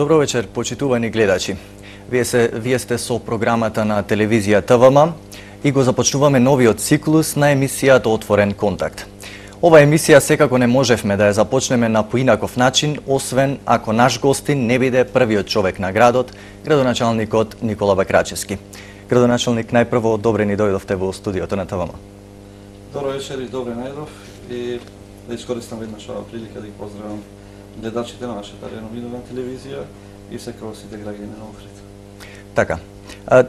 Добро вечер, почитувани гледачи. Вие сте со програмата на телевизија ТВМ и го започнуваме новиот циклус на емисијата Отворен контакт. Ова емисија секако не можевме да ја започнеме на поинаков начин, освен ако наш гостин не биде првиот човек на градот, градоначалникот Никола Бакрачевски. Градоначалник, најпрво добре ни дојдовте во студиото на ТВМ. Добро вечер и добре најдов и да искористам веднаш оваа прилика да ги поздравам гледачите на нашата реномирана телевизија и секако сите граѓани на Охрид. Така.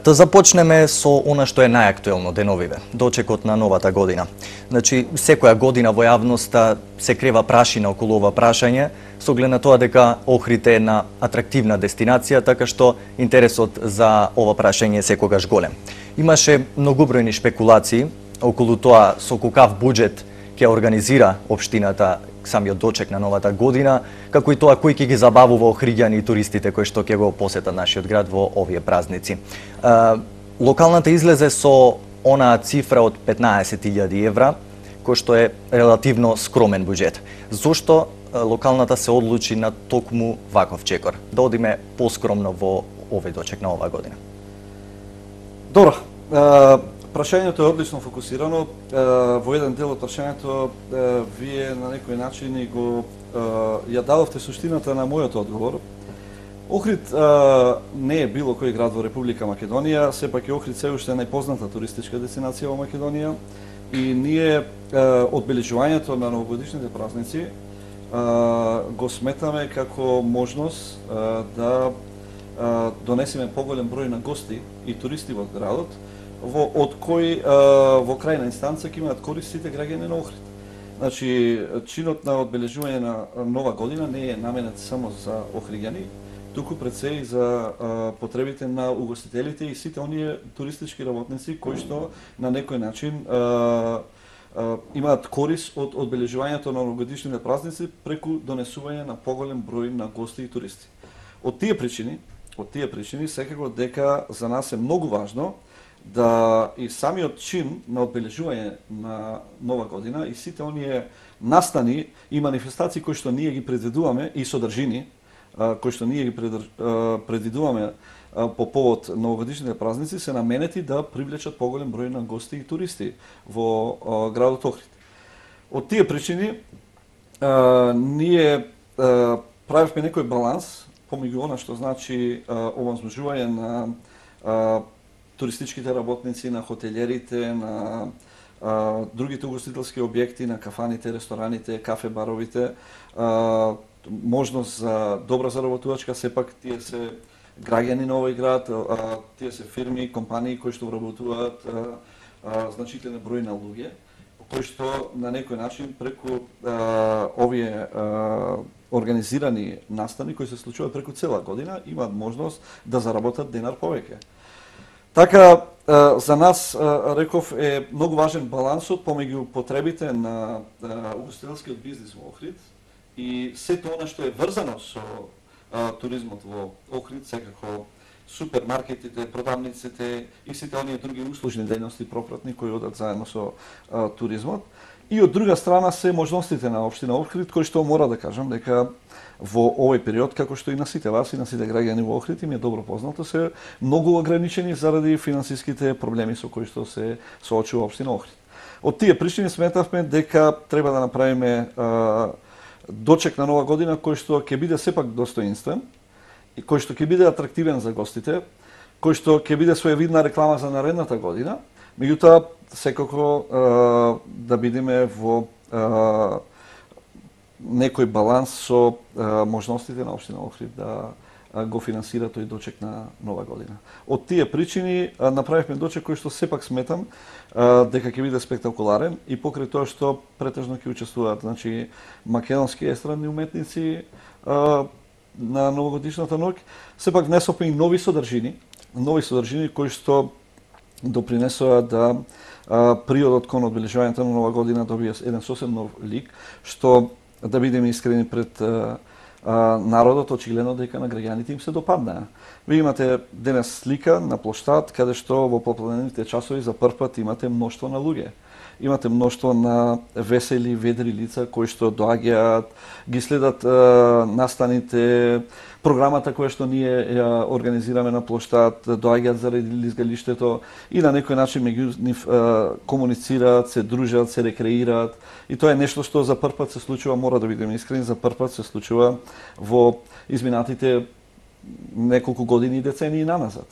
Да започнеме со она што е најактуелно деновиве, дочекот на новата година. Значи, секоја година во јавноста се крева прашина околу ова прашање, со оглед на тоа дека Охрид е една атрактивна дестинација, така што интересот за ова прашање е секогаш голем. Имаше многобројни шпекулации околу тоа со каков буџет ќе организира општината самиот дочек на новата година, како и тоа кој ќе ги забавува охриѓани и туристите кои што ќе го посетат нашиот град во овие празници. Локалната излезе со онаа цифра од 15.000 евра, кој што е релативно скромен буџет. Зошто локалната се одлучи на токму ваков чекор? Да одиме поскромно во овој дочек на оваа година. Добро. Прашањето е одлично фокусирано. Во еден дел од прашањето вие на некој начин и го ја дадовте суштината на мојот одговор. Охрид не е било кој град во Република Македонија, сепак е Охрид се уште најпозната туристичка дестинација во Македонија и ние одбележувањето на новогодишните празници го сметаме како можност да донесеме поголем број на гости и туристи во градот, од кои во крајна инстанца ќе имаат корист сите граѓани на Охрид. Значи, чинот на одбележување на нова година не е наменет само за охриѓани, туку пред се и за потребите на угостителите и сите оние туристички работници кои што на некој начин имаат корист од одбележувањето на новогодишните празници преку донесување на поголем број на гости и туристи. Од тие причини секако дека за нас е многу важно да и самиот чин на одбележување на нова година и сите оние настани и манифестации кои што ние ги предвидуваме и содржини кои што ние ги предвидуваме по повод новогодишните празници се наменети да привлечат поголем број на гости и туристи во градот Охрид. Од тие причини ние правевме некој баланс помеѓу она што значи овозможување на туристичките работници, на хотелерите, на другите угостителски објекти, на кафаните, рестораните, кафе-баровите, можност за добра заработувачка, сепак тие се граѓани на овој град, тие се фирми, компании кои што вработуваат значителен број на луѓе, кои што на некој начин преку овие организирани настани кои се случуваат преку цела година имаат можност да заработат денар повеќе. Така, за нас, реков, е многу важен балансот помеѓу потребите на угостителскиот бизнис во Охрид и сето она што е врзано со туризмот во Охрид, секако супермаркетите, продавниците и сите оние други услужни дејности пропратни кои одат заедно со туризмот. И од друга страна се можностите на општина Охрид, кои што мора да кажам дека во овој период, како што и на сите вас и на сите граѓани во Охрид им е добро познато, се многу ограничени заради финансиските проблеми со кои што се соочува општина Охрид. Од тие причини сметавме дека треба да направиме дочек на нова година кој што ќе биде сепак достоинствен и кој што ќе биде атрактивен за гостите, кој што ќе биде своевидна реклама за наредната година, меѓутоа секако да бидеме во некој баланс со можностите на општина Охрид да го финансира тој дочек на нова година. Од тие причини направивме дочек кој што сепак сметам дека ќе биде спектакуларен и покрај тоа што претежно ќе учествуваат, значи македонски естрадни уметници на новогодишната ноќ, сепак внесовме и нови содржини кои што допринесоа да приодот кон одбележувањето на нова година добија еден сосем нов лик, што да бидеме искрени пред народот, очигледно дека на граѓаните им се допаднаа. Ви имате денес слика на плоштад, каде што во попладнените часови за прв пат имате мноштво на луѓе. Имате мноштво на весели, ведри лица кои што доаѓаат, ги следат настаните, програмата која што ние ја организираме на плоштад, доаѓаат заради лизгалиштето и на некој начин меѓу нив комуницираат, се дружат, се рекреираат. И тоа е нешто што за прв пат се случува, мора да бидеме искрени, за прв пат се случува во изминатите неколку години и децении наназад.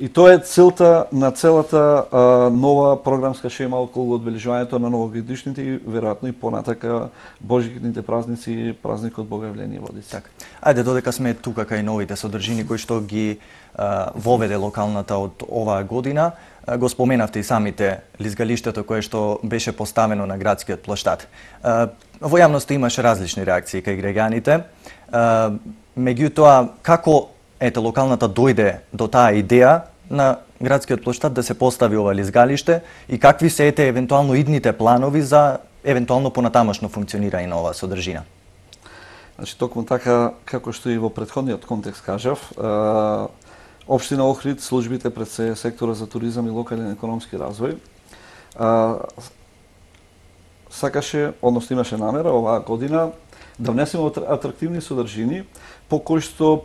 И тоа е целта на целата нова програмска шема околу одбележувањето на новогодишните и веројатно и понатака божикните празници, празникот Богојавление Водици. Така. Ајде додека сме тука кај новите содржини кои што ги воведе локалната од оваа година, го споменавте и самите лизгалиштето кое што беше поставено на градскиот плоштад. Во јавноста имаше различни реакции кај граѓаните. Меѓутоа, како локалната дојде до таа идеја на градскиот плоштад да се постави ова лизгалиште и какви се евентуално идните планови за евентуално понатамошно функционирање на оваа содржина? Значи, токму така, како што и во претходниот контекст кажав, Општина Охрид, службите пред се сектора за туризам и локален економски развој, сакаше, односно имаше намера оваа година да внесеме атрактивни содржини по кои што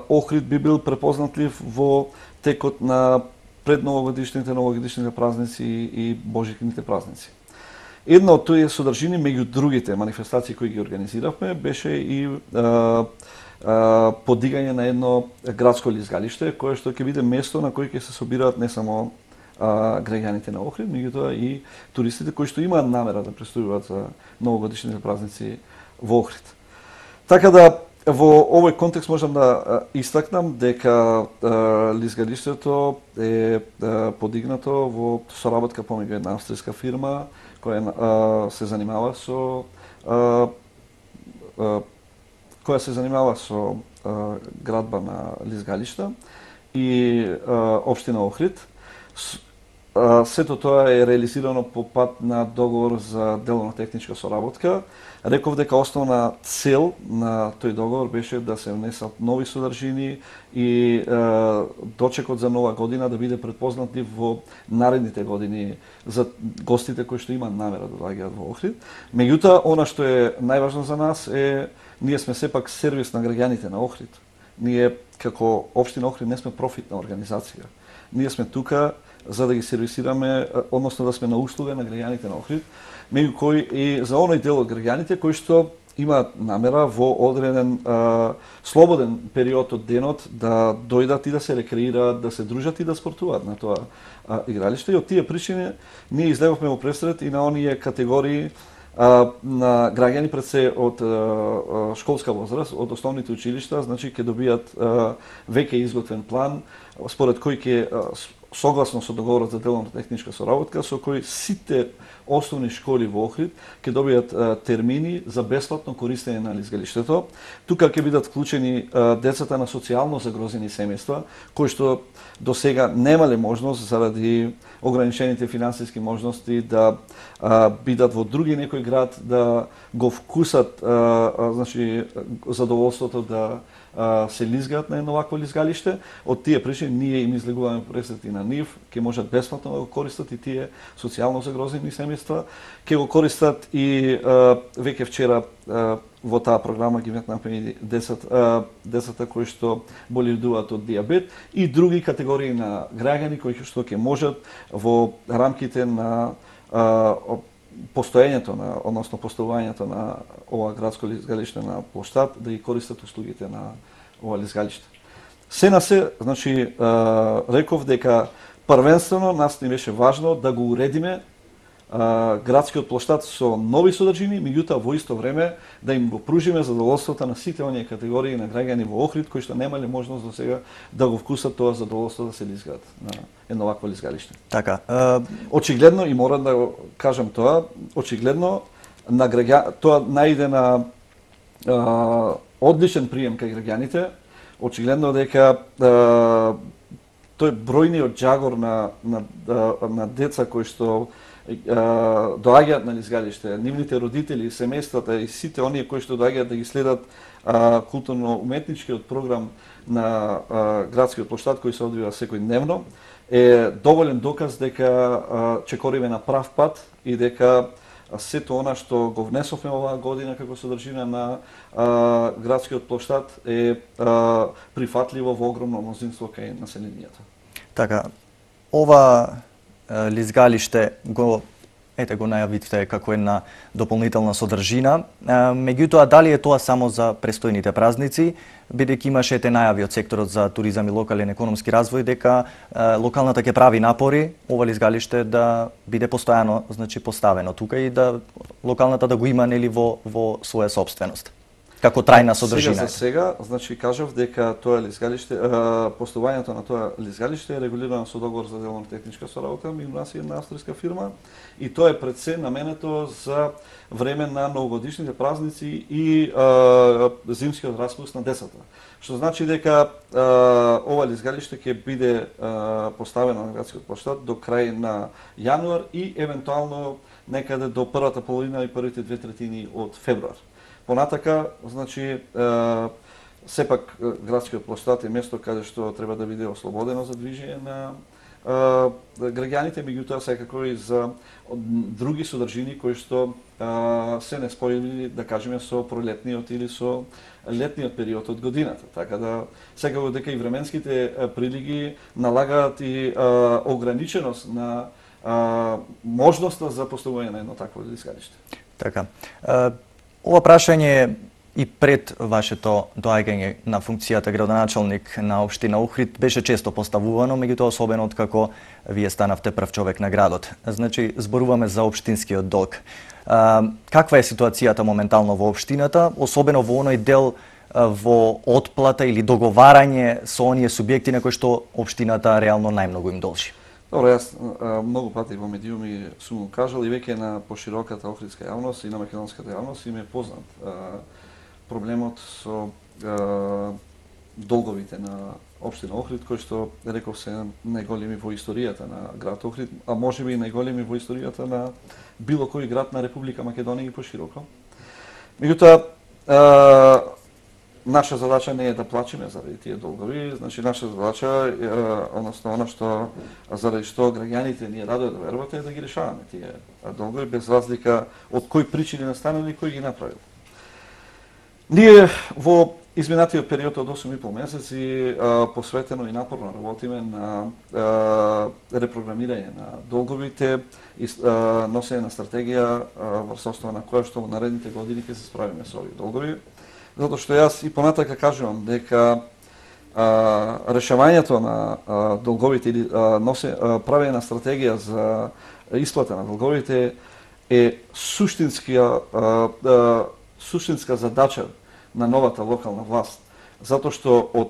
Охрид би бил препознатлив во текот на предновогодишните, новогодишните празници и божикните празници. Една од тие содржини меѓу другите манифестации кои ги организиравме беше и подигање на едно градско лизгалиште кое што ќе биде место на кој ќе се собираат не само граѓаните на Охрид, меѓутоа и туристите кои што имаат намера да престојуваат за новогодишните празници во Охрид. Така да во овој контекст можам да истакнам дека лизгалиштето е подигнато во соработка помеѓу една австријска фирма која се занимава со градба на лизгалишта и општина Охрид. Сето тоа е реализирано по пат на договор за деловно-техничка соработка. Реков дека основна цел на тој договор беше да се внесат нови содржини и дочекот за нова година да биде предпознатлив во наредните години за гостите кои што имаат намера да доаѓаат во Охрид. Меѓутоа, она што е најважно за нас е ние сме сепак сервис на граѓаните на Охрид. Ние како општина Охрид не сме профитна организација. Ние сме тука за да ги сервисираме, односно да сме на услуга на граѓаните на Охрид, меѓу кои и за оној дел од граѓаните кои што имаат намера во одреден слободен период од денот да дојдат и да се рекреираат, да се дружат и да спортуваат на тоа игралиште. И од тие причини ние излеговме во пресред и на оние категории на граѓани пред се од школска возраст, од основните училишта, значи ќе добијат веќе изготвен план според кој ќе согласно со договорот за деловно-техничка соработка, со кој сите основни школи во Охрид ќе добијат термини за бесплатно користење на лизгалиштето. Тука ќе бидат вклучени децата на социјално загрозени семејства, кои што до сега немале можност заради ограничените финансиски можности да бидат во други некој град, да го вкусат значи задоволството да се лизгаат на едно вакво лизгалиште. Од тие причини ние им излегуваме пресети на нив, ќе можат бесплатно да го користат и тие социјално загрозени семејства, ќе го користат и веќе вчера во таа програма ги метнавме и децата кои што боледуваат од диабет и други категории на граѓани кои што ќе можат во рамките на постоењето на, односно поставувањето на ова градско лизгалиште на плоштад да ги користат услугите на ова лизгалиште. Се на се, значи, реков дека првенствено нас ни беше важно да го уредиме градскиот плоштад со нови содржини, меѓутоа во исто време да им го пружиме задоволството на сите оние категории на граѓани во Охрид кои што немале можност до сега да го вкусат тоа задоволство да се лизгаат на едно вакво лизгалиште. Така. Очигледно, и морам да го кажам тоа, очигледно на тоа најде на одличен прием кај граѓаните, очигледно дека тој бројниот џагор на деца кои што доаѓаат на лизгалиште, нивните родители, семејствата и сите оние кои што доаѓаат да ги следат културно-уметничкиот програм на градскиот плоштад кој се одвива секојдневно, е доволен доказ дека чекориме на прав пат и дека сето она што го внесовме оваа година како содржина на градскиот плоштад е прифатливо во огромно мнозинство кај населението. Така, ова лизгалиште го најавивте како една дополнителна содржина. Меѓутоа, дали е тоа само за престојните празници, бидејќи имаше најави од секторот за туризам и локален економски развој дека локалната ќе прави напори ова лизгалиште да биде постојано, поставено тука и да локалната да го има во своја собственост како трајна содржина. Сега, кажав дека тоа лизгалиште, постојањето на тоа лизгалиште е регулирано со договор за деловно-техничка соработка меѓу нас и една австријска фирма и тоа е пред се наменето за време на новогодишните празници и зимскиот распуст на децата. Што значи дека ова лизгалиште ќе биде поставено на градскиот плоштад до крај на јануар и евентуално некаде до првата половина и првите 2/3 од февруар. Понатака, сепак градскиот плоштад е место каде што треба да биде ослободено за движење на граѓаните, меѓутоа секако и за други содржини кои што се неспојени, да кажеме, со пролетниот или со летниот период од годината. Така да секако дека и временските прилиги налагаат и ограниченост на можноста за постојување на едно такво лизгалиште. Така. Ова прашање и пред вашето доаѓање на функцијата градоначалник на општина Охрид беше често поставувано, меѓутоа особено откако вие станавте прв човек на градот. Зборуваме за општинскиот долг. Каква е ситуацијата моментално во општината, особено во оној дел во отплата или договарање со оние субјекти на кои што општината реално најмногу им должи? Добро, јас многу пати во медиуми сум го кажал и веќе на пошироката охридска јавност и на македонската јавност им е познат проблемот со долговите на општина Охрид, кои што, реков се, најголеми во историјата на град Охрид, а можеби и најголеми во историјата на било кој град на Република Македонија и пошироко. Меѓутоа, наша задача не е да плачеме заради тие долгови, наша задача е, односно она што заради што граѓаните ние радо да верувате е да ги решаваме тие долгови без разлика од кои причини настанали и кој ги направил. Ние во изминатиот период од 8,5 месеци посветено и напорно работиме на репрограмирање на долговите и носење на стратегија врз основа на која што во наредните години ќе се справиме со овие долгови. Затоа што јас и понатака кажувам дека решавањето на долговите или правење на стратегија за исплата на долговите е суштинска задача на новата локална власт, затоа што од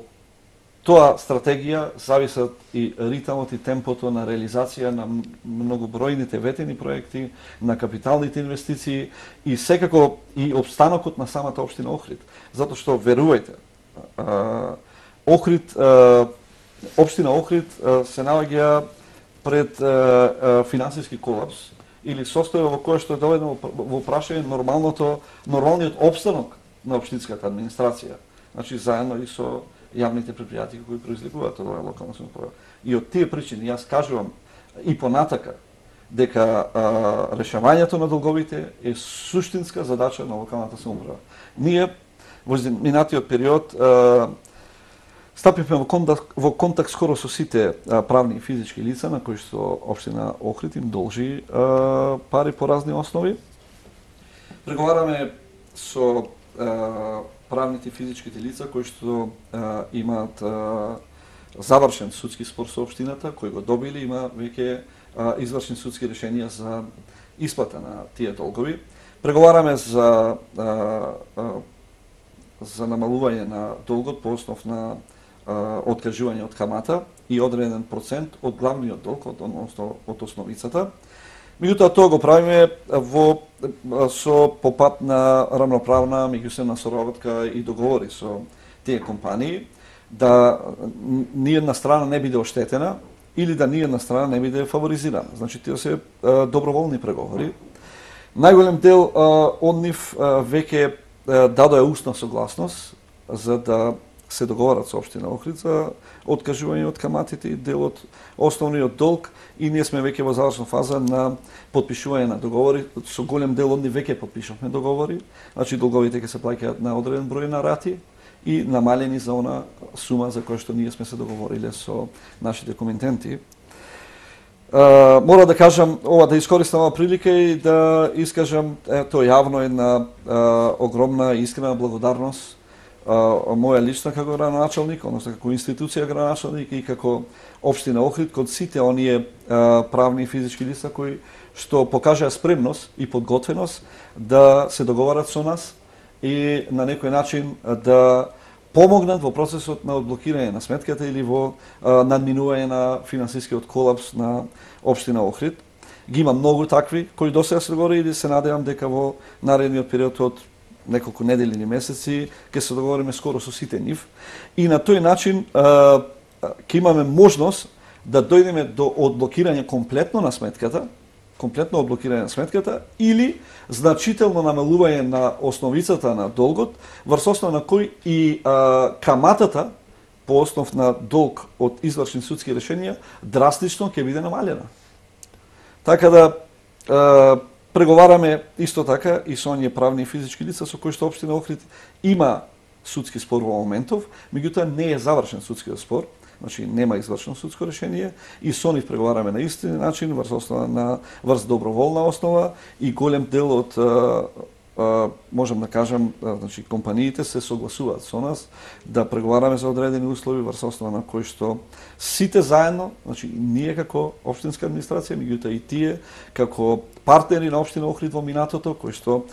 тоа стратегија зависат и ритмот и темпото на реализација на многобројните ветени проекти, на капиталните инвестиции и секако и обстанокот на самата општина Охрид. Затоа што, верувајте, општина Охрид се наоѓа пред финансиски колапс или состојба во која што е доведено во прашање нормалниот обстанок на општинската администрација. Значи, заедно и со јавните предпријатија кои произлегуваат од оваа локална самоуправа. И од тие причини јас кажувам и понатака дека решавањето на долговите е суштинска задача на локалната самоуправа. Ние во минатиот период стапивме во контакт скоро со сите правни и физички лица на кои што општина Охрид им должи пари по разни основи. Преговараме со правните и физичките лица кои што имаат завршен судски спор со општината, кои го добили, има веќе извршени судски решенија за исплата на тие долгови. Преговараме за намалување на долгот по основ на откажување од камата и одреден процент од главниот долг, односно од основицата. Меѓутоа, тоа го правиме по пат на рамноправна меѓусебна соработка и договори со тие компании, да ни една страна не биде оштетена или да ни една страна не биде фаворизирана. Значи, тие се доброволни преговори. Најголем дел од нив веќе дадоа устна согласност за да се договарат со општина Охрид за откажување од каматите и дел од основниот долг и ние сме веќе во завршна фаза на потпишување на договори. Со голем дел од нив веќе потпишавме договори. Значи долговите ќе се плаќаат на одреден број на рати и намалени за она сума за која што ние сме се договориле со нашите комитенти. Мора да кажам, да искористам оваа прилика и да искажам тоа јавно една огромна и искрена благодарност моја лична како градоначалник, односно како институција градоначалник и како општина Охрид кон сите оние правни и физички лица кои што покажаа спремност и подготвеност да се договарат со нас и на некој начин да помогнат во процесот на одблокирање на сметката или во надминување на финансискиот колапс на општина Охрид. Ги има многу такви кои досега се договориле и се надевам дека во наредниот период од неколку недели или месеци ќе се договориме скоро со сите нив и на тој начин ќе имаме можност да дојдеме до одблокирање комплетно на сметката, или значително намалување на основицата на долгот, врз основа на кој и каматата по основ на долг од извршни судски решенија драстично ќе биде намалена. Така да преговараме исто така и со оние правни и физички лица со кои што општина Охрид има судски спор во моментов, меѓутоа не е завршен судскиот спор. Значи нема извршено судско решение и со нив преговараме на исти начин врз доброволна основа и голем дел од можам да кажам, значи компаниите се согласуваат со нас да преговараме за одредени услови врз основа на кои што сите заедно, значи ние како општинска администрација, меѓутоа и тие како партнери на општина Охрид во минатото, кои што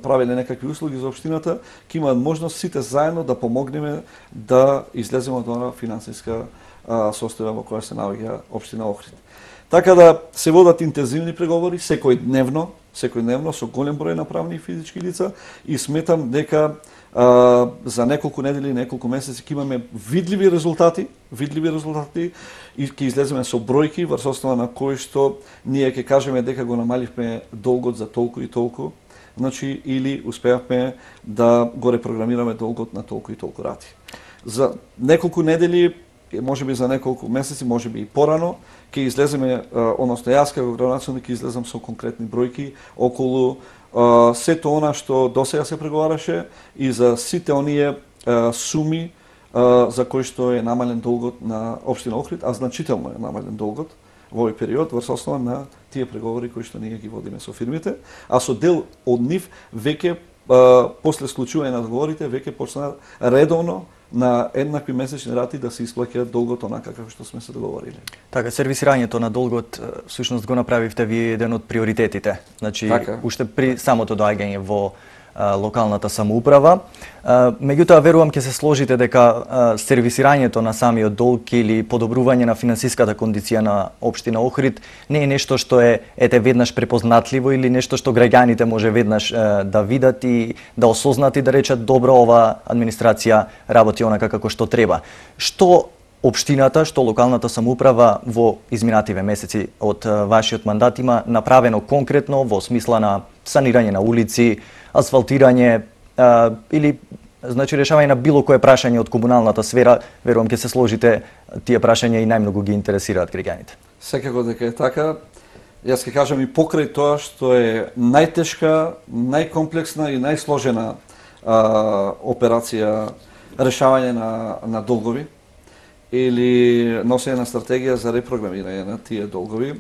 правеле некакви услуги за општината, ќе имаат можност сите заедно да помогнеме да излеземе од онаа финансиска состојба во која се наоѓа општина Охрид. Така да се водат интензивни преговори секојдневно со голем број на правни и физички лица и сметам дека за неколку недели, неколку месеци ќе имаме видливи резултати и ќе излеземе со бројки врз основа на кои што ние ќе кажеме дека го намаливме долгот за толку и толку, значи или успеавме да го репрограмираме долгот на толку и толку рати. За неколку недели, можеби за неколку месеци, можеби и порано, ќе излеземе, односно јас како градоначалник ќе излезам со конкретни бројки околу сето она што досега се преговараше и за сите оние суми за кои што е намален долгот на општина Охрид, а значително е намален долгот во овој период врз основа на тие преговори кои што ние ги водиме со фирмите, а со дел од нив веќе после склучување на договорите веќе почна редовно на еднакви месечни рати да се исплаќаат долгот онака како што сме се договориле. Така, сервисирањето на долгот всушност го направивте вие еден од приоритетите. Значи, уште при самото доаѓање во локалната самоуправа. Меѓутоа, верувам ќе се сложите дека сервисирањето на самиот долг или подобрување на финансиската кондиција на општина Охрид не е нешто што е веднаш препознатливо или нешто што граѓаните може веднаш да видат и да осознат и да речат добро, ова администрација работи онака како што треба. Што општината, што локалната самоуправа во изминативе месеци од вашиот мандат има направено конкретно во смисла на санирање на улици, асфалтирање или значи решавање на било кое прашање од комуналната сфера, верувам ќе се сложите, тие прашања и најмногу ги интересираат граѓаните. Секако дека е така. Јас ќе кажам и покрај тоа што е најтешка, најкомплексна и најсложена операција решавање на долгови или носење на стратегија за репрограмирање на тие долгови.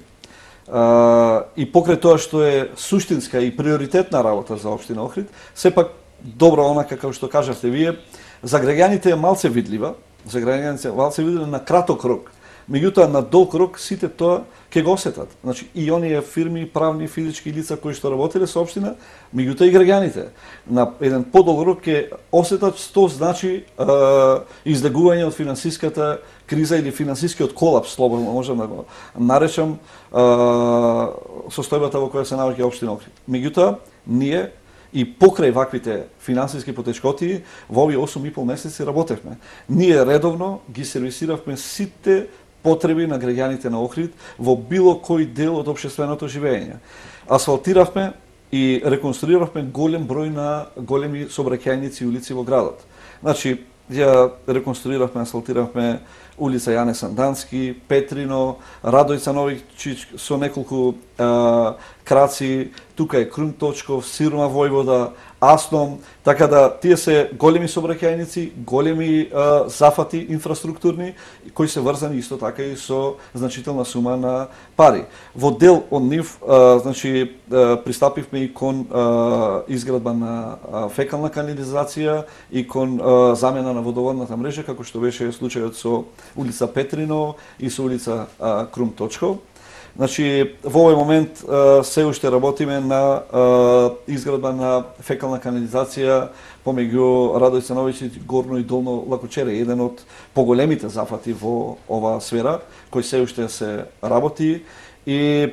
И покрај тоа што е суштинска и приоритетна работа за општина Охрид, сепак добро онака како што кажавте вие, за граѓаните е малце видлива, на краток рок. Меѓутоа на долг рок сите тоа ќе го осетат. Значи и оние фирми, правни, физички лица кои што работеле со општина, меѓутоа и граѓаните на еден подолг рок ќе осетат што значи излегување од финансиската криза или финансискиот колапс, слободно можам да го наречам состојбата во која се наоѓа општина Охрид. Меѓутоа ние и покрај ваквите финансиски потешкоти во овие 8,5 месеци работевме. Ние редовно ги сервисиравме сите потреби на граѓаните на Охрид во било кој дел од општественото живење. Асфалтиравме и реконструиравме голем број на големи сообраќајници и улици во градот. Значи, ја реконструиравме, асфалтиравме улица Јане Сандански, Петрино, Радојца Новичич со неколку краци, тука е Крум Точков, Сирма Војвода, Асном, така да тие се големи сообраќајници, големи зафати инфраструктурни кои се врзани исто така и со значителна сума на пари. Во дел од нив значи пристапивме и кон изградба на фекална канализација и кон замена на водоводната мрежа, како што беше случајот со улица Петрино и со улица Крум Точков. Значи, во овој момент се уште работиме на изградба на фекална канализација помеѓу Радојца Новичич, Горно и Долно Лакочере, еден од поголемите зафати во оваа сфера, кој се уште се работи и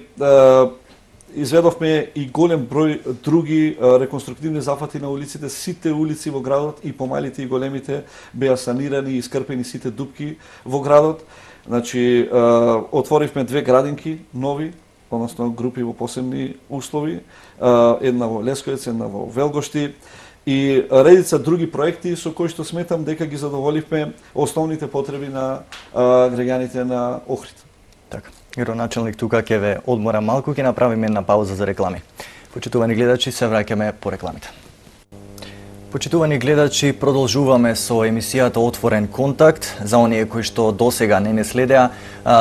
изведовме и голем број други реконструктивни зафати на улиците. Сите улици во градот, и помалите и големите, беа санирани и искрпени сите дупки во градот. Значи, отворивме 2 градинки нови, односно групи во посебни услови, една во Лесковец, една во Велгошти, и редица други проекти со кои што сметам дека ги задоволивме основните потреби на граѓаните на Охрид. Така, градоначалник, тука ќе ве одмора малку, ќе направиме една пауза за реклами. Почитувани гледачи, се враќаме по рекламите. Почитувани гледачи, продолжуваме со емисијата Отворен контакт. За оние кои што досега не следеа,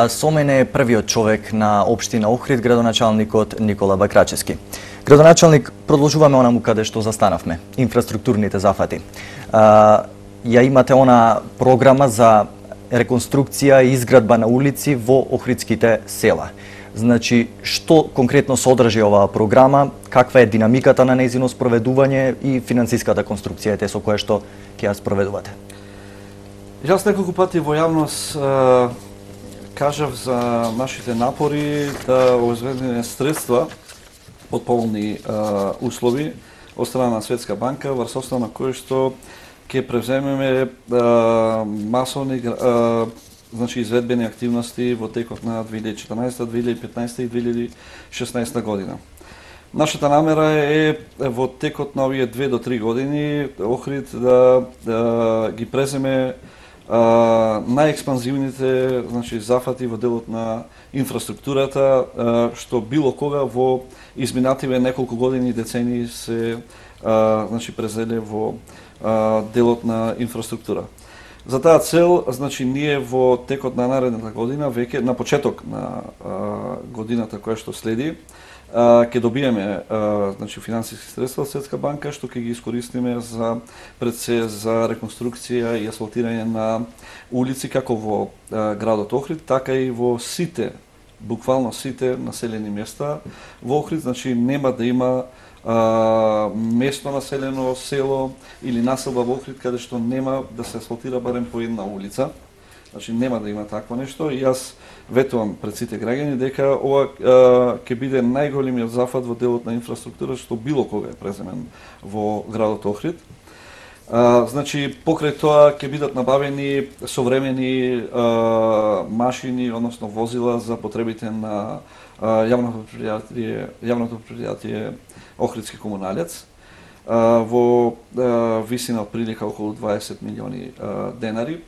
со мене е првиот човек на општина Охрид, градоначалникот Никола Бакрачевски. Градоначалник, продолжуваме онаму каде што застанавме, инфраструктурните зафати. Ја имате она програма за реконструкција и изградба на улици во охридските села. Значи, што конкретно содржи оваа програма, каква е динамиката на нејзино спроведување и финансиската конструкција со која што ќе ја спроведувате? Јас неколку пати во јавност кажав за нашите напори да обезбедиме средства од поволни услови од страна на Светска банка, врз основа на кој што ќе превземеме масовни значи изведбени активности во текот на 2014, 2015 и 2016 година. Нашата намера е во текот на овие 2 до 3 години Охрид да ги преземе најекспанзивните значи зафати во делот на инфраструктурата што било кога во изминативе неколку години и децении се значи презеле во делот на инфраструктура. За таа цел, значи, ние во текот на наредната година, веќе на почеток на годината која што следи, ќе добиеме значи, финансиски средства од Светска банка, што ќе ги искористиме за пред се за реконструкција и асфалтирање на улици како во градот Охрид, така и во сите, буквално сите населени места во Охрид, значи нема да има место населено село или населба во Охрид каде што нема да се асфалтира барем по една улица. Значи нема да има такво нешто и јас ветувам пред сите граѓани дека ова ќе биде најголемиот зафат во делот на инфраструктура што било кога е преземен во градот Охрид. Значи покрај тоа ќе бидат набавени современи машини, односно возила за потребите на јавното предпријатие Охридски комуналец во висина од прилика околу 20 милиони денари.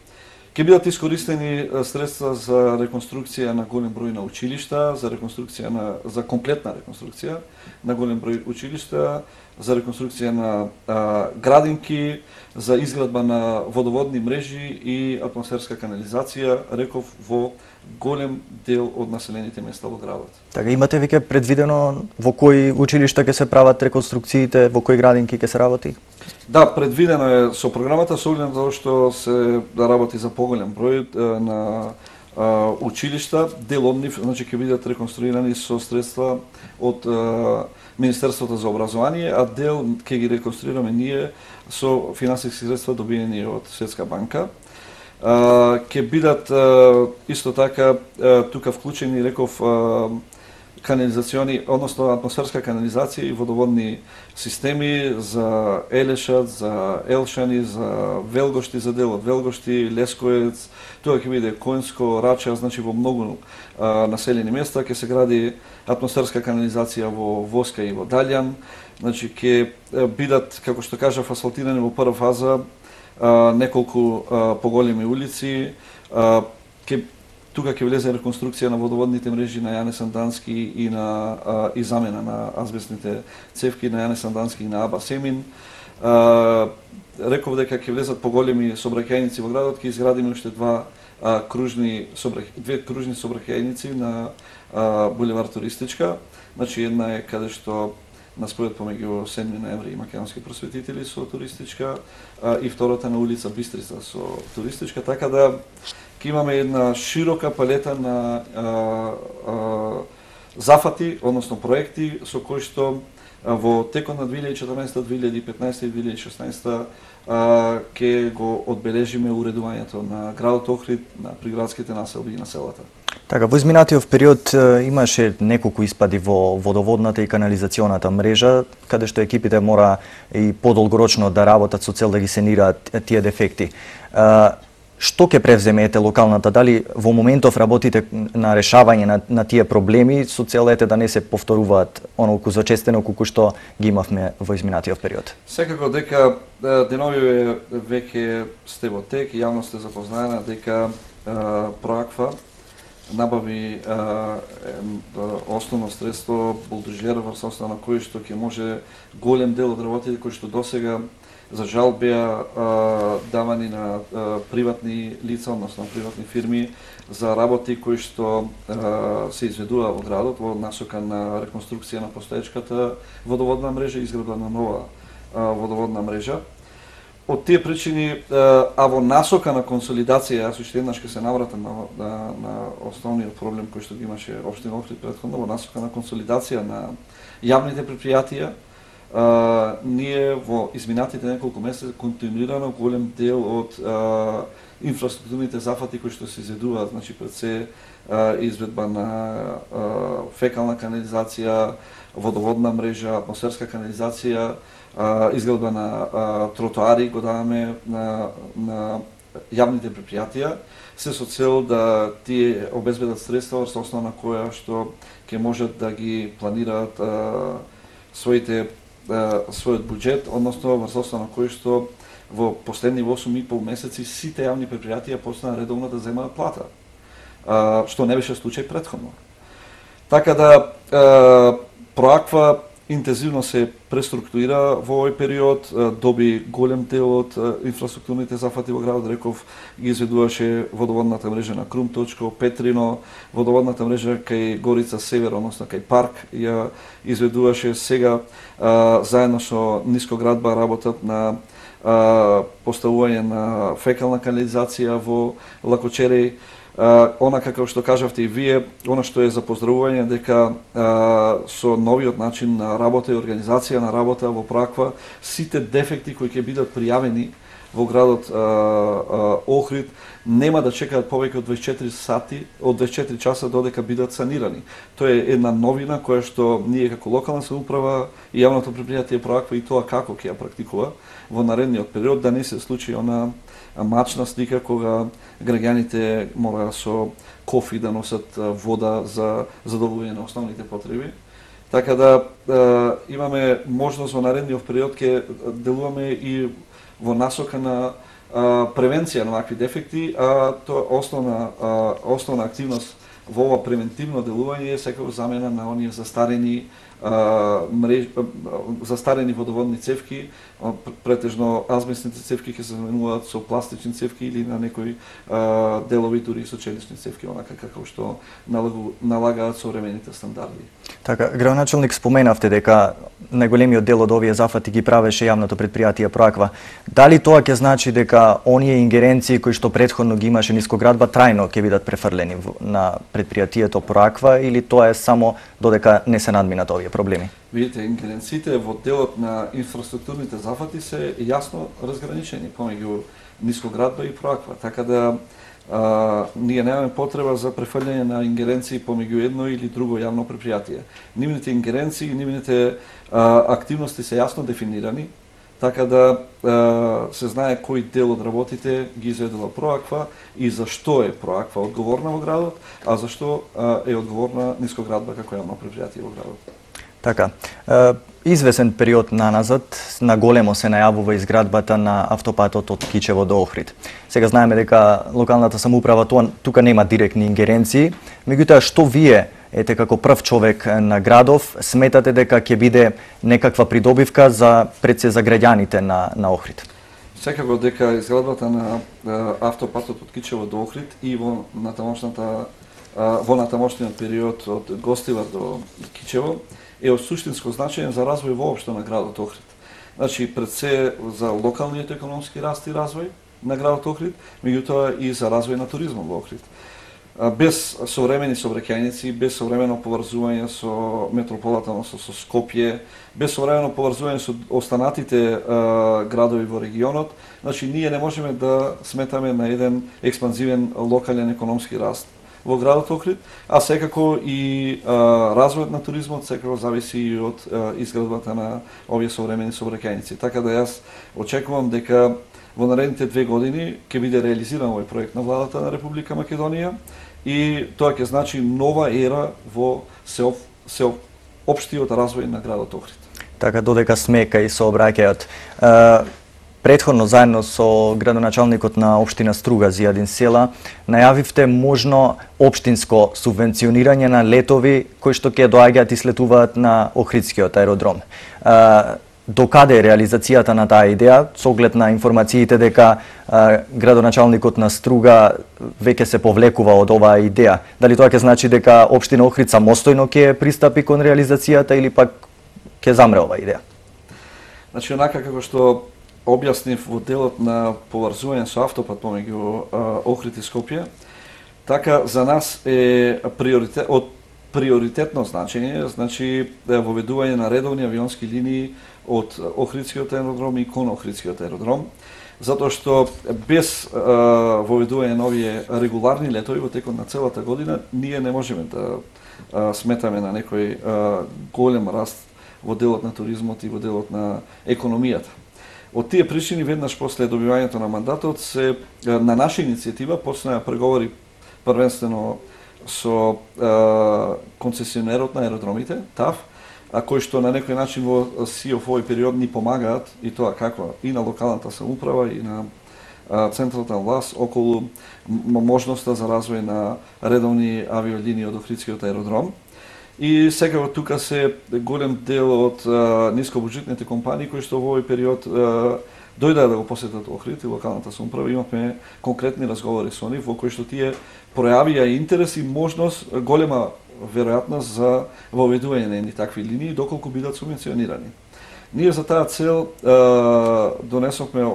Ќе бидат искористени средства за реконструкција на голем број на училишта, за комплетна реконструкција на голем број училишта, за реконструкција на градинки, за изградба на водоводни мрежи и атмосферска канализација, реков, во голем дел од населените места во градот. Така, имате веќе предвидено во кои училишта ќе се прават реконструкциите, во кои градинки ќе се работи? Да, предвидено е со програмата, со оглед на тоа што се работи за поголем број на училишта, дел од нив значи ќе бидат реконструирани со средства од Министерството за образование, а дел ќе ги реконструираме ние со финансиски средства добиени од Светска банка. Ќе бидат исто така тука вклучени, реков, канализациони, односно атмосферска канализација и водоводни системи за Елешат, за Елшани, за Велгошти, за дел од Велгошти, Лесковец, тоа ќе биде Којнско, Рача, значи во многу населени места ќе се гради атмосферска канализација во Воска и во Далјан, значи ќе бидат, како што кажав, асфалтирани во прва фаза неколку поголеми улици, тука ќе влезе реконструкција на водоводните мрежи на Јане Сандански и замена на азбестните цевки на Јане Сандански и на Аба Семин. Реков дека ќе влезат поголеми сообраќајници во градот, ќе изградиме уште две кружни сообраќајници на булевар Туристичка. Значи една е каде што на спојот помеѓу 7 ноември и македонски просветители со Туристичка, и втората на улица Бистрица со Туристичка, така да ќе имаме една широка палета на зафати, односно проекти со кои што во текот на 2014, 2015 и 2016 ќе го одбележиме уредувањето на градот Охрид, на приградските населби и на селата. Така, во изминатиот период имаше неколку испади во водоводната и канализационата мрежа, каде што екипите мора и подолгорочно да работат со цел да ги санираат тие дефекти. Што ќе превземете локалната? Дали во моментов работите на решавање на тие проблеми со цел да не се повторуваат онолку зачестено колку што ги имавме во изминатиот период? Секако дека деновиве веќе сте во тек и јавност е запознаена дека Проаква набави основно средство булдожер врз основа на кој што ќе може голем дел од работите кои што досега за жал беа давани на приватни лица, односно приватни фирми за работи кои што се изведува во градот во насока на реконструкција на постоечката водоводна мрежа и изградба на нова водоводна мрежа. Од тие причини, а во насока на консолидација, јас уште еднаш ќе се навратам на основниот проблем кој што ги имаше општина Охрид претходно, во насока на консолидација на јавните предпријатија, ние во изминатите неколку месеци континуирано голем дел од инфраструктурните зафати кои што се изведуваат, значи пред се изведба на фекална канализација, водоводна мрежа, атмосферска канализација, изградба на тротоари го даваме на јавните предпријатија, се со цел да тие обезбедат средства врз основа на која што ќе можат да ги планираат својот буџет, односно врз основа на кој што во последни 8,5 месеци сите јавни предпријатија почнаа редовно да земаат плата, што не беше случај претходно. Така да Проаква интензивно се преструктурира во овој период, доби голем дел од инфраструктурните зафати во градот, реков, ги изведуваше водоводната мрежа на Крумточко, Петрино, водоводната мрежа кај Горица Север, односно кај Парк, ја изведуваше сега заедно со Нискоградба работат на поставување на фекална канализација во Лакочереј. Она како што кажавте и вие, она што е за поздравување дека со новиот начин на работа и организација на работа во Проаква, сите дефекти кои ќе бидат пријавени во градот Охрид нема да чекаат повеќе од 24 сати, од 24 часа додека бидат санирани. Тоа е една новина која што ние како локална самоуправа и јавното предпријатие Проаква и тоа како ќе ја практикува во наредниот период, да не се случи она мачна слика кога граѓаните мора со кофи да носат вода за задоволување на основните потреби. Така да имаме можност во наредниот период ќе делуваме и во насока на превенција на вакви дефекти, а тоа основна активност во ова превентивно делување е секако замена на оние застарени водоводни цевки, претежно азбестните цевки ќе се заменуваат со пластични цевки или на некои делови дури со челични цевки, онака како што налагаат современите стандарди. Така, градоначалник, споменавте дека најголемиот дел од овие зафати ги правеше јавното предпријатие Проаква. Дали тоа ќе значи дека оние ингеренции кои што претходно ги имаше Нискоградба трајно ќе бидат префрлени на предпријатието Проаква, или тоа е само додека не се надминат овие проблеми? Видите, ингеренциите во делот на инфраструктурните зафати се јасно разграничени помеѓу Нискоградба и Проаква, така да ние немаме потреба за префрлање на ингеренции помеѓу едно или друго јавно предпријатие. Нивните ингеренции и нивните активности се јасно дефинирани, така да се знае кој дел од работите ги изведува Проаква и зашто е Проаква одговорна во градот, а зашто е одговорна Нискоградба како јавно предпријатие во градот. Така. Извесен период наназад на големо се најавува изградбата на автопатот од Кичево до Охрид. Сега знаеме дека локалната самоуправа тука нема директни ингеренции, меѓутоа што вие ете како прв човек на градов сметате дека ќе биде некаква придобивка пред се за граѓаните на Охрид? Секако дека изградбата на автопатот од Кичево до Охрид и во натамошниот период од Гостивар до Кичево е од суштинско значење за развој воопшто на градот Охрид. Значи, пред се за локалниот економски раст и развој на градот Охрид, меѓутоа и за развој на туризмот во Охрид. Без современи сообраќајници, без современо поврзување со метрополата, со Скопје, без современо поврзување со останатите градови во регионот, значи ние не можеме да сметаме на еден експанзивен локален економски раст во градот Охрид, а секако и развојот на туризмот секако зависи и од изградбата на овие современи сообраќајници. Така да јас очекувам дека во наредните 2 години ќе биде реализиран овој проект на владата на Република Македонија и тоа ќе значи нова ера во општиот развој на градот Охрид. Така, додека смека и сообраќајот. Претходно, заедно со градоначалникот на општина Струга, Зијадин Села, најавивте можно општинско субвенционирање на летови кои што ќе доаѓаат и слетуваат на Охридскиот аеродром. Докаде е реализацијата на таа идеја, со оглед на информациите дека градоначалникот на Струга веќе се повлекува од оваа идеја? Дали тоа ќе значи дека општина Охрид самостојно ќе пристапи кон реализацијата или пак ќе замре оваа идеја? Значи, онака како што објаснив во делот на поврзување со автопат помеѓу Охрид и Скопје, така за нас е од приоритетно значење, значи воведување на редовни авионски линии од Охридскиот аеродром и кон Охридскиот аеродром, затоа што без воведување на овие регуларни летови во текот на целата година ние не можеме да сметаме на некој голем раст во делот на туризмот и во делот на економијата. Од тие причини, веднаш после добивањето на мандатот, се на наша иницијатива почна преговори првенствено со концесионерот на аеродромите, ТАВ, кои што на некој начин во СИОФ овој период ни помагаат, и тоа како и на локалната самоуправа и на централната власт околу можноста за развој на редовни авиолинии од Охридскиот аеродром. И секако тука се голем дел од нискобуџетните компании кои што во овој период дојдаа да го посетат Охрид и локалната самоуправа. Имавме конкретни разговори со нив во кои што тие пројавија интерес и можност, голема веројатност за воведување на едни такви линии доколку бидат субвенционирани. Ние за таа цел донесовме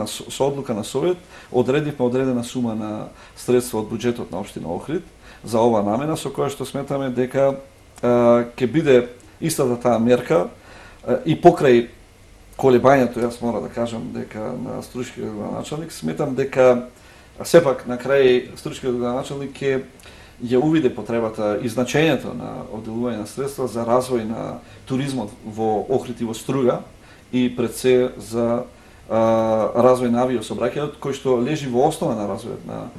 со одлука на Совет, одредивме одредена сума на средства од буџетот на општина Охрид за ова намена, со која што сметаме дека ќе биде истата таа мерка и покрај колебањето, јас мора да кажам дека на Струшкиот градоначалник, сметам дека сепак на крај Струшкиот градоначалник ќе ја увиде потребата и значењето на одделување на средства за развој на туризмот во Охрид и во Струга и пред се за развој на авиосообраќајот кој што лежи во основа на развојот на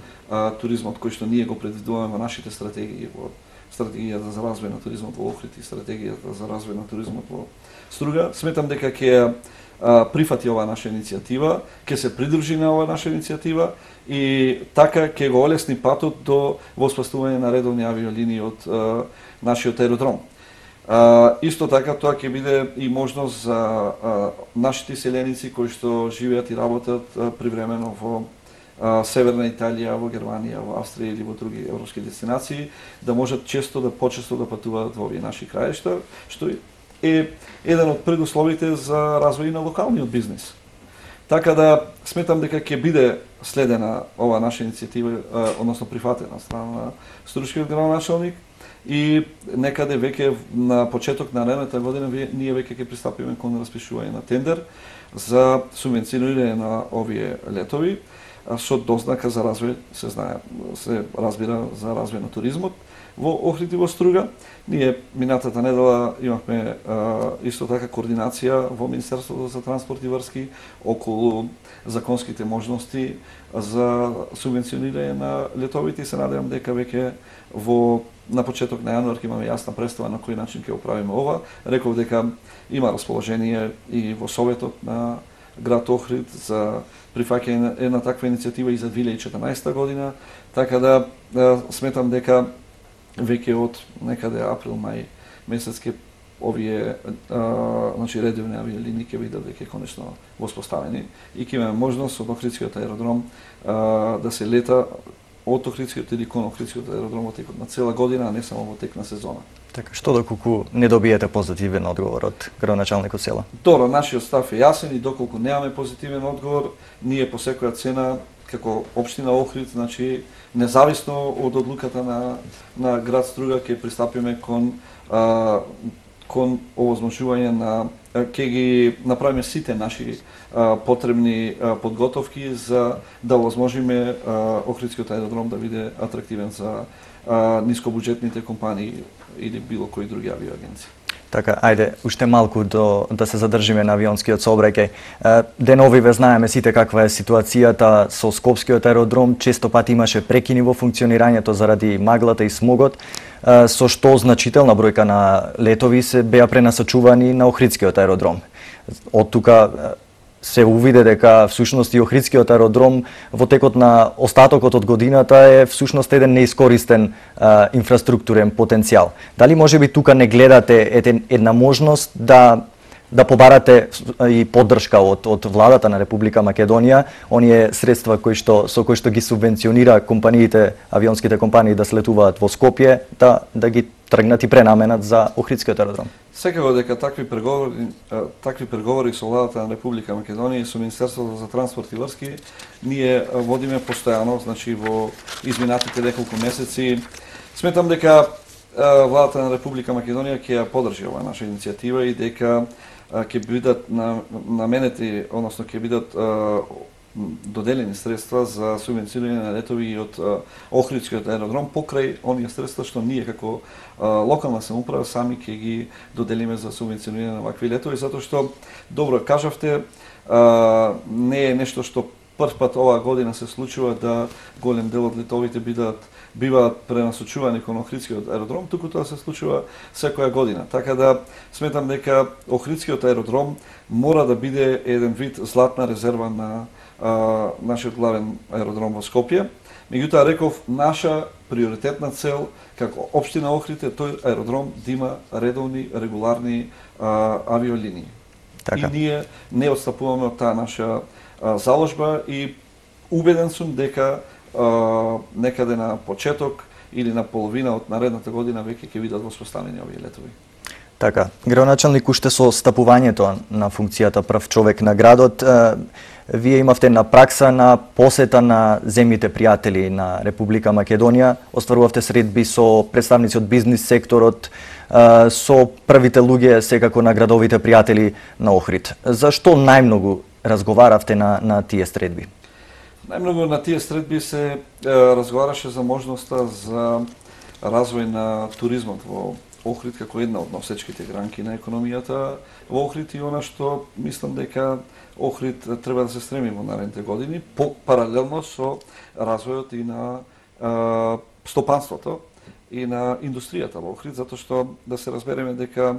туризмот кој што ние го предвидуваме во нашите стратегии, во стратегијата за развој на туризмот во Охрид и стратегијата за развој на туризмот во Струга. Сметам дека ќе прифати оваа наша иницијатива, ќе се придружи на оваа наша иницијатива и така ќе го олесни патот до воспоставување на редовни авиолинии од нашиот аеродром. Исто така тоа ќе биде и можност за нашите селеници кои што живеат и работат привремено во Северна Италија, во Германија, во Австрија или во други европски дестинации, да можат почесто да патуваат во овие наши краишта, што е еден од предусловите за развој на локалниот бизнис. Така да сметам дека ќе биде следена ова наша иницијатива, односно прифатена страна на Струшкиот градоначалник и некаде веќе на почеток на наредната година ние веќе ќе пристапиме кон распишување на тендер за субвенционирање на овие летови. со дознака за развој, се разбира за развој на туризмот во Охрид и во Струга. Ние минатата недела имавме исто така координација во Министерството за транспорт и врски околу законските можности за субвенционирање на летовите и се надевам дека веќе на почеток на јануар ќе имаме јасна представа на кој начин ќе оправиме ова. Реков дека има расположение и во Советот на град Охрид за прифаќање на една таква иницијатива и за 2014 година, така да сметам дека веќе од некаде април-мај месец ќе овие редовни авиолинии ќе бидат веќе конечно воспоставени и ќе имаме можност од Охридскиот аеродром да се лета од Охридскиот или кон Охридскиот аеродром во текот на цела година, а не само во тек на сезона. Така, што доколку не добиете позитивен одговор од градоначалникот села? Добро, нашиот став е јасен и доколку немаме позитивен одговор, ние по секоја цена како општина Охрид, значи независно од одлуката на град Струга ќе пристапиме кон овозможување на ќе ги направиме сите наши потребни подготовки за да овозможиме Охридскиот аеродром да биде атрактивен за нискобуџетните компании или било кои други авиоагенции. Така, ајде, уште малку да се задржиме на авионскиот сообраќај. Деновиве знаеме сите каква е ситуацијата со Скопскиот аеродром, често пати имаше прекини во функционирањето заради маглата и смогот, со што значителна бројка на летови се беа пренасочувани на Охридскиот аеродром. Од тука се увиде дека всушност и Охридскиот аеродром во текот на остатокот од годината е всушност еден неискористен инфраструктурен потенцијал. Дали можеби тука не гледате една можност да побарате и поддршка од владата на Република Македонија, оние средства со кои што ги субвенционира компаниите, авионските компании да слетуваат во Скопје, да ги тргнат и пренаменат за Охридскиот аеродром? Секако дека такви преговори со владата на Република Македонија и со Министерството за транспорт и врски ние водиме постојано, значи во изминатите неколку месеци. Сметам дека владата на Република Македонија ќе ја поддржи оваа наша иницијатива и дека ќе бидат наменети, односно ќе бидат доделени средства за субвенционирање на летови од Охридскиот аеродром покрај оние средства што ние како локална самоуправа сами ќе ги доделиме за субвенционирање на вакви летови, затоа што добро кажавте, не е нешто што прв пат оваа година се случува да голем дел од летовите биваат пренасочувани кон Охридскиот аеродром, туку тоа се случува секоја година. Така да сметам дека Охридскиот аеродром мора да биде еден вид златна резерва на нашиот главен аеродром во Скопје. Меѓутоа реков, наша приоритетна цел како општина Охрид е тој аеродром да има редовни, регуларни авиолинии. Така. И ние не отстапуваме од таа наша заложба и убеден сум дека некаде на почеток или на половина од наредната година веќе ќе бидат воспоставени овие летови. Така, градоначалник, уште со стапувањето на функцијата прв човек на градот, вие имавте на пракса на посета на земјите пријатели на Република Македонија, остварувавте средби со представници од бизнис секторот, со првите луѓе секако на градовите пријатели на Охрид. Зашто најмногу разговаравте на тие средби? Најмногу на тие средби се разговараше за можноста за развој на туризмот во Охрид како една од носечките гранки на економијата во Охрид и она што мислам дека Охрид треба да се стреми во наредните години, паралелно со развојот и на стопанството и на индустријата во Охрид, затоа што да се разбереме дека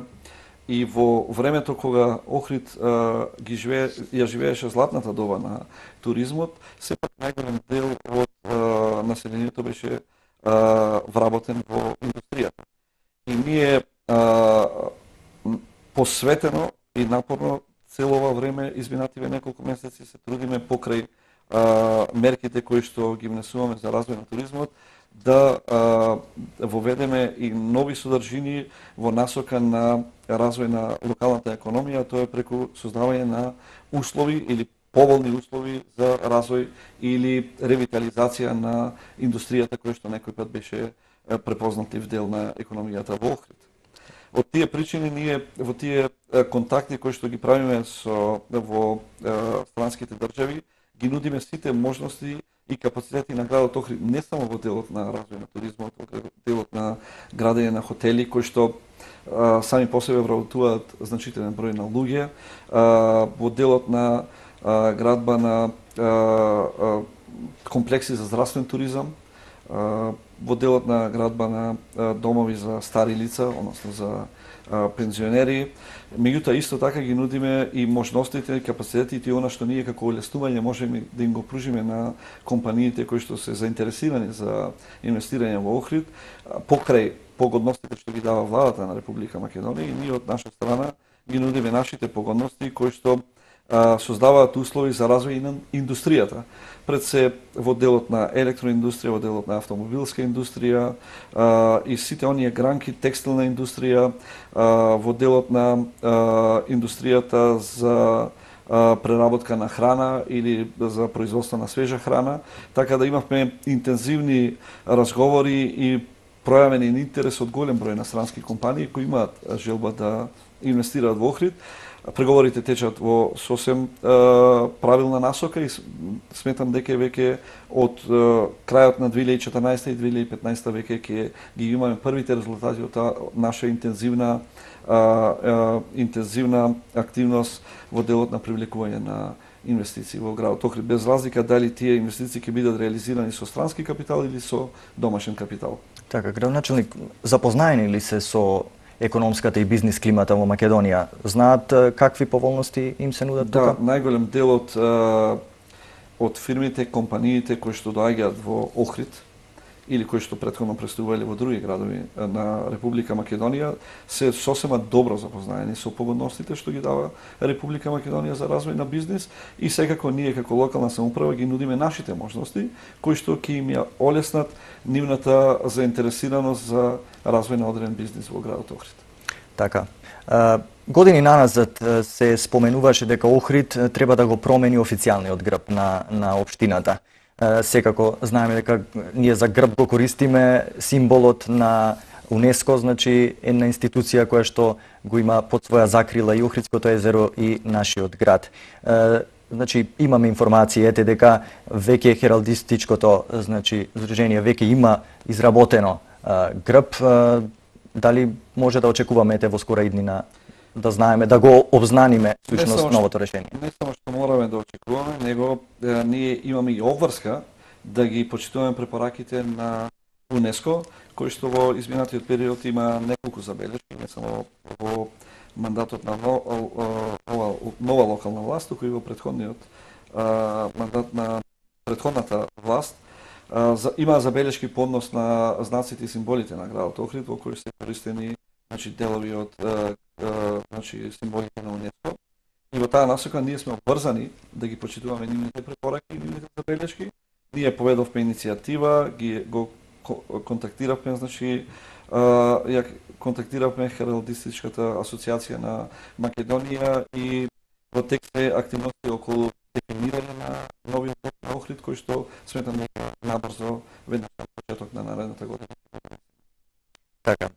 и во времето кога Охрид ја живееше златната доба на туризмот, сепак најголем дел од населението беше вработен во индустријата. И ние посветено и напорно цело ова време, изминативе неколку месеци, се трудиме покрај мерките кои што ги внесуваме за развој на туризмот, да воведеме и нови содржини во насока на развој на локалната економија, тоа е преку создавање на услови или поволни услови за развој или ревитализација на индустријата која што некој пат беше препознатлив дел на економијата во Охрид. Од тие причини ние во тие контакти кои што ги правиме во странските држави ги нудиме сите можности и капацитети на градот Охрид, не само во делот на развој на туризмот, во делот на градење на хотели, кои што сами по себе вработуваат значителен број на луѓе, во делот на градба на комплекси за здравствен туризам, во делот на градба на домови за стари лица, односно за пензионери. Меѓутоа исто така ги нудиме и можностите, капацитетите и она што ние како олеснување можеме да им го пружиме на компаниите кои што се заинтересирани за инвестирање во Охрид, покрај погодностите што ги дава владата на Република Македонија, и ние од наша страна ги нудиме нашите погодности кои што создаваат услови за развој на индустријата. Пред се во делот на електроиндустрија, во делот на автомобилска индустрија и сите оние гранки, текстилна индустрија, во делот на индустријата за преработка на храна или за производство на свежа храна, така да имавме интензивни разговори и пројавен интерес од голем број на странски компании кои имаат желба да инвестираат во Охрид. Преговорите течат во сосем правилна насока и сметам дека веќе од крајот на 2014 и 2015 веќе ќе ги имаме првите резултати од наша интензивна активност во делот на привлекување на инвестиции во градот Охрид, без разлика дали тие инвестиции ќе бидат реализирани со странски капитал или со домашен капитал. Така, градоначелник, запознаени ли се со економската и бизнис климата во Македонија? Знаат какви поволности им се нудат тука? Да, најголем дел од фирмите, компаниите кои што доаѓаат во Охрид или кои што претходно престувале во други градови на Република Македонија се сосема добро запознаени со погодностите што ги дава Република Македонија за развој на бизнис и секако ние како локална самоуправа ги нудиме нашите можности кои што ќе им ја олеснат нивната заинтересираност за развој на одреден бизнис во градот Охрид. Така. Години наназад се споменуваше дека Охрид треба да го промени официјалниот грб на општината. Секако знаеме дека ние за грб го користиме символот на УНЕСКО, значи една институција која што го има под своја закрила и Охридското езеро и нашиот град. Значи имаме информации дека веќе хералдистичкото, значи здружение веќе има изработено грб. Дали може да очекуваме во скора иднина да знаеме, да го обзнаниме сушност новото решение? Не само што мораме да очекуваме, него ние имаме и обврска да ги почитуваме препораките на УНЕСКО, кој што во изминатиот период има неколку забелешки, не само во мандатот на нова локална власт, туку и во претходниот мандат на претходната власт, има забелешки по однос на знаците и символите на градот Охрид, во кои се користени делови од символите на УНЕСКО. И во таа насока ние сме обврзани да ги почитуваме нивните препораки и нивните забелешки. Ние поведовме иницијатива, го контактиравме, ја контактиравме Хералдистичката асоциација на Македонија и во текст е активности околу дефинирање на новиот грб на Охрид, кој што сметам дека набрзо веднаш на почеток на наредната година. Така.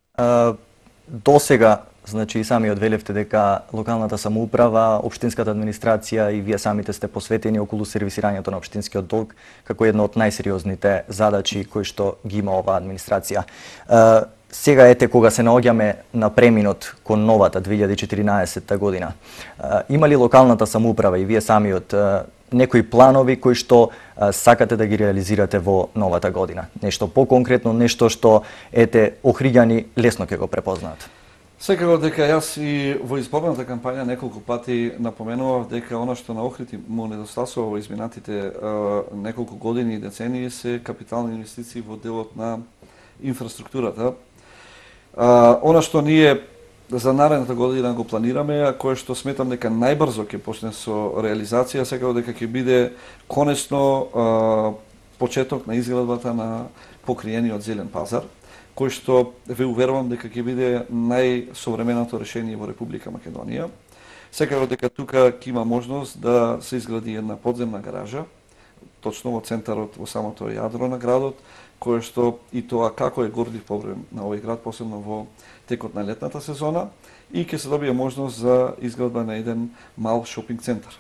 До сега, значи и самиот велевте дека локалната самоуправа, општинската администрација и вие самите сте посветени околу сервисирањето на општинскиот долг како една од најсериозните задачи кои што ги има оваа администрација. Сега ете кога се наоѓаме на преминот кон новата 2014 година. Има ли локалната самоуправа и вие самиот некои планови кои што сакате да ги реализирате во новата година? Нешто поконкретно, нешто што ете охриѓани лесно ќе го препознаат? Секако дека јас и во изборната кампања неколку пати напоменував дека она што на Охрид му недостасува во изминатите неколку години и децении се капитални инвестиции во делот на инфраструктурата. Она што ние за наредната година го планираме, а кое што сметам дека најбрзо ќе почне со реализација, секако дека ќе биде конечно почеток на изградбата на покриениот зелен пазар, кој што ве уверувам дека ќе биде најсовременото решение во Република Македонија. Секако дека тука ќе има можност да се изгради една подземна гаража, точно во центарот, во самото јадро на градот, кое што и тоа како е гордив проблем на овој град, посебно во текот на летната сезона, и ќе се добие можност за изградба на еден мал шопинг центар.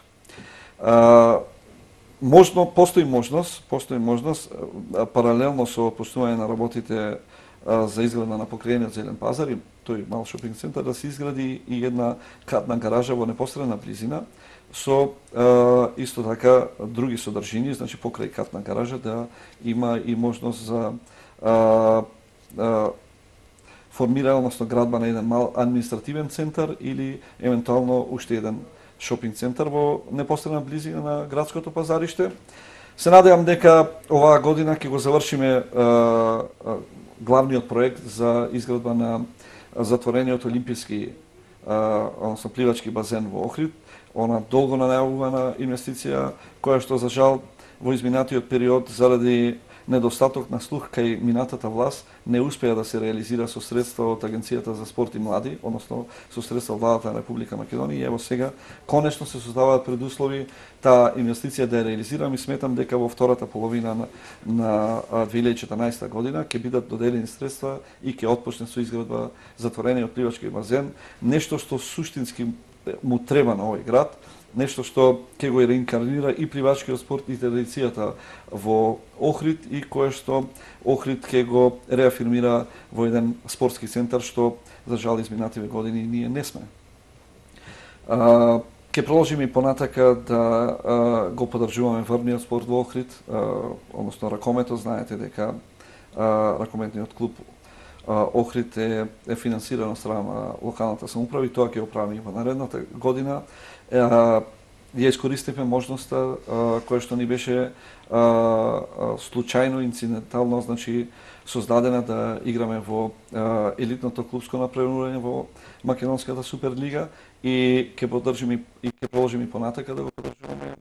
Постои можност паралелно со почнување на работите за изграда на покриениот зелен пазар и тој мал шопинг центар да се изгради и една катна гаража во непосредна близина со исто така други содржини, значи покрај катна гаража да има и можност за формира, односно градба на еден мал административен центар или евентуално уште еден шопинг центар во непосредна близина на градското пазариште. Се надевам дека оваа година ќе го завршиме главниот проект за изградба на затворениот олимписки, односно пливачки базен во Охрид, она долго најавувана инвестиција која што за жал во изминатиот период заради недостаток на слух кај минатата власт не успеа да се реализира со средства од Агенцијата за спорт и млади, односно со средства од владата на Република Македонија и ево сега конечно се создаваат предуслови таа инвестиција да ја реализирам и сметам дека во втората половина на 2014 година ќе бидат доделени средства и ќе отпочне со изградба затворениот пливачки базен, нешто што суштински му треба на овој град, нешто што ќе го реинкарнира и пливачкиот спорт и традицијата во Охрид и кое што Охрид ќе го реафирмира во еден спортски центар што за жал изминативе години ние не сме. Ќе продолжиме и понатака да го поддржуваме врвниот спорт во Охрид, односно ракометот, знаете дека ракометниот клуб Охрид е финансиран од страна на локалната самоуправа и тоа ќе го правиме во наредната година. Ја искористивме можноста која што ни беше случајно, инцидентално, значи создадена да играме во елитното клубско напредување во Македонската Суперлига и ќе поддржиме и ќе продолжиме понатака да го поддржуваме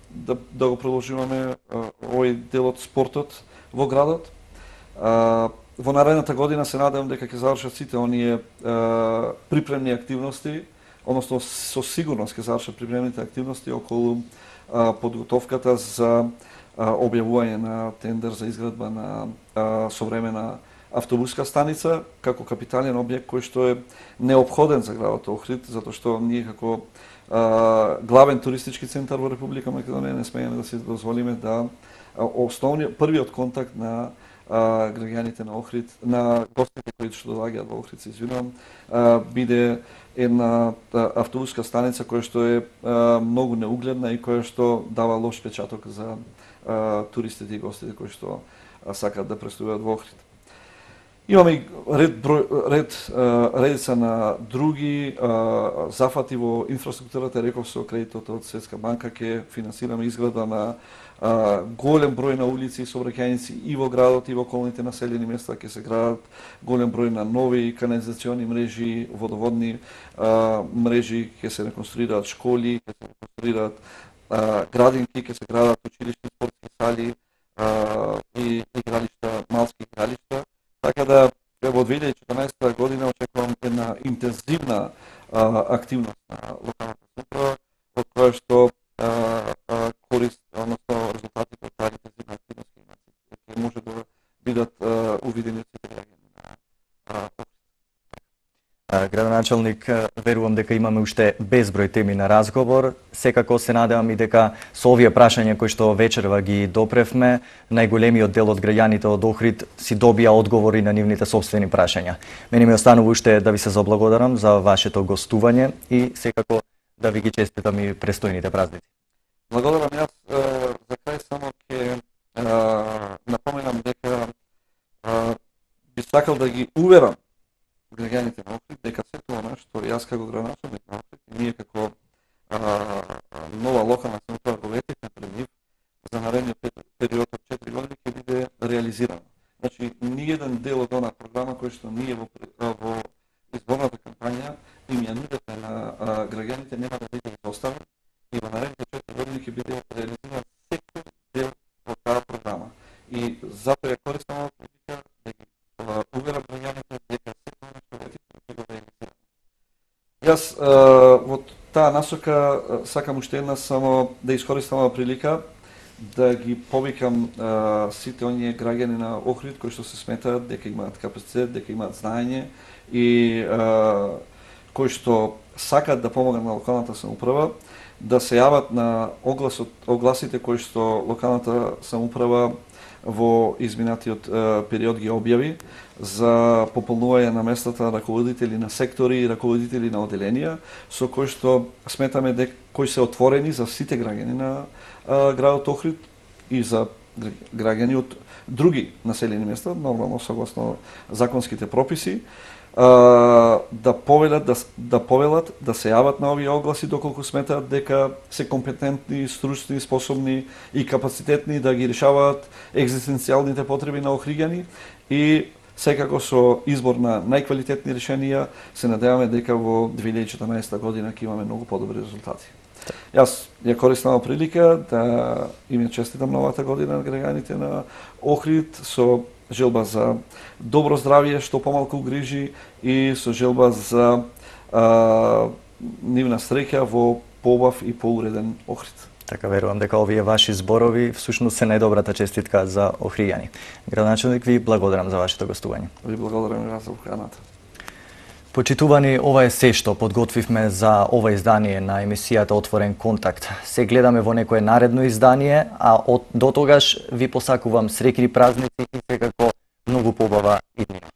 да го продолжуваме овој дел од спортот во градот. Во наредната година се надевам дека ќе завршат сите оние припремни активности, односно со сигурност ќе завршат припремните активности околу подготовката за објавување на тендер за изградба на современа автобуска станица како капитален објект кој што е неопходен за градот Охрид, затоа што ние како главен туристички центар во Република Македонија не смееме да се дозволиме да првиот контакт на граѓаните на Охрид, на гостите кои што доаѓаат во Охрид, се извинувам, биде една автобуска станица која што е многу неугледна и која што дава лош печаток за туристите и гостите кои што сакаат да престојуваат во Охрид. Имаме редица на други зафати во инфраструктурата, реков со кредитот од Светска банка ќе финансираме изградба на голем број на улици и сообраќајници и во градот и во околните населени места, ќе се градат голем број на нови канализациони мрежи, водоводни мрежи, ќе се реконструираат школи, ќе се реконструираат градинки, ќе се градат училишни спортски сали и игралишта, малски игралишта. Така да во 2014 година очекувам една интензивна активност на локалната самоуправа, од која што корист, односно резултатите од таа интензивна активност ќе може да бидат увидени од сите граѓани на Градоначалник, верувам дека имаме уште безброј теми на разговор. Секако се надевам и дека со овие прашања кои што вечерва ги допревме, најголемиот дел од граѓаните од Охрид си добија одговори на нивните сопствени прашања. Мене ми останува уште да ви се заблагодарам за вашето гостување и секако да ви ги честитам и престојните празници. Благодарам јас. За крај само ќе напоменам дека би сакал да ги уверам граѓаните на Охрид дека сето она што јас како градоначалник на Охрид и ние како нова локална самоуправа го ветивме пред нив за наредниот период од 4 години ќе биде реализирано. Значи, ниеден дел од онаа програма кој што ние во изборната кампања им ја нудевме на граѓаните нема да биде изоставен и во наредните 4 години ќе биде реализиран секој дел од таа програма. И затоа ја користам оваа прилика да ги уверам граѓаните дека Јас во таа насока сакам уште една само да искористам оваа прилика да ги повикам сите оние граѓани на Охрид кои што се сметаат дека имаат капацитет, дека имаат знаење и кои што сакаат да помогнат на локалната самоуправа, да се јават на огласите кои што локалната самоуправа во изминатиот период ги објави за пополнување на местата на раководители на сектори и раководители на оделенија, со кои што сметаме кои се отворени за сите граѓани на градот Охрид и за граѓани од други населени места, нормално согласно законските прописи, да повелат да се јават на овие огласи доколку сметаат дека се компетентни, стручни, способни и капацитетни да ги решаваат екзистенцијалните потреби на охриѓани и секако со избор на најквалитетни решенија се надеваме дека во 2014 година ќе имаме многу подобри резултати. Јас ја користам прилика да им честитам новата година на граѓаните на Охрид со желба за добро здравје, што помалку грижи и со желба за нивна среќа во поубав и поуреден Охрид. Така верувам дека овие ваши зборови всушност се најдобрата честитка за охриѓани. Градоначелник, ви благодарам за вашето гостување. Ви благодарам и за поканата. Почитувани, ова е се што подготвивме за ова издание на емисијата Отворен контакт. Се гледаме во некое наредно издание, а до тогаш ви посакувам среќни празници и секако многу побава иднина.